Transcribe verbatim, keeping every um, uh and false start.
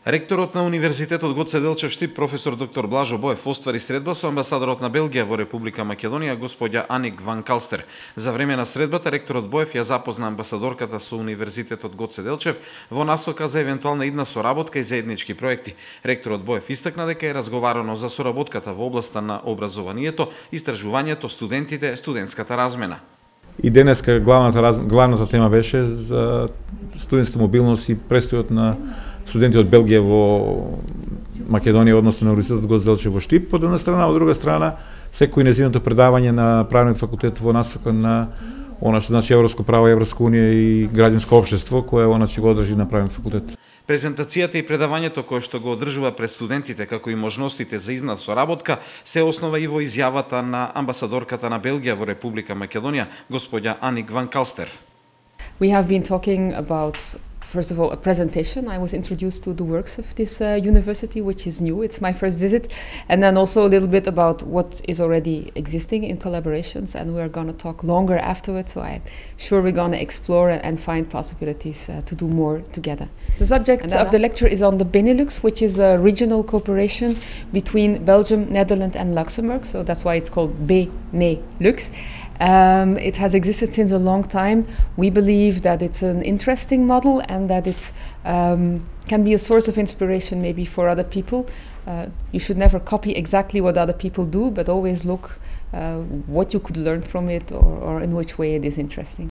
Ректорот на Универзитетот Гоце Делчев Штип, професор доктор Блажо Боев, оствари средба со амбасадорот на Белгија во Република Македонија, господја Аник ван Калстер. За време на средбата, ректорот Боев ја запозна амбасадорката со Универзитетот Гоце Делчев во насока за евентуална идна соработка и заеднички проекти. Ректорот Боев истакна дека е разговарано за соработката во областа на образованието, истражувањето, студентите, студентската размена. И денеска главната, главната тема беше за студентска мобилност и престојот на студенти од Белгија во Македонија, односно на Универзитетот Гоце Делчев во Штип, од една страна, од друга страна, секој нејзиното предавање на правниот факултет во насока на она што значи Европско право, Европска унија и граѓанско општество, кое она ќе го одржи на правниот факултет. Презентацијата и предавањето кое што го одржува пред студентите, како и можностите за изна соработка, се основа и во изјавата на амбасадорката на Белгија во Република Македонија, господја Аник ван Калстер. We have been talking about, first of all, a presentation. I was introduced to the works of this uh, university, which is new. It's my first visit. And then also a little bit about what is already existing in collaborations. And we're going to talk longer afterwards. So I'm sure we're going to explore and find possibilities uh, to do more together. The subject of the lecture is on the Benelux, which is a regional cooperation between Belgium, Netherlands and Luxembourg. So that's why it's called Benelux. Um, it has existed since a long time. We believe that it's an interesting model and that it um, can be a source of inspiration maybe for other people. Uh, you should never copy exactly what other people do, but always look uh, what you could learn from it or, or in which way it is interesting.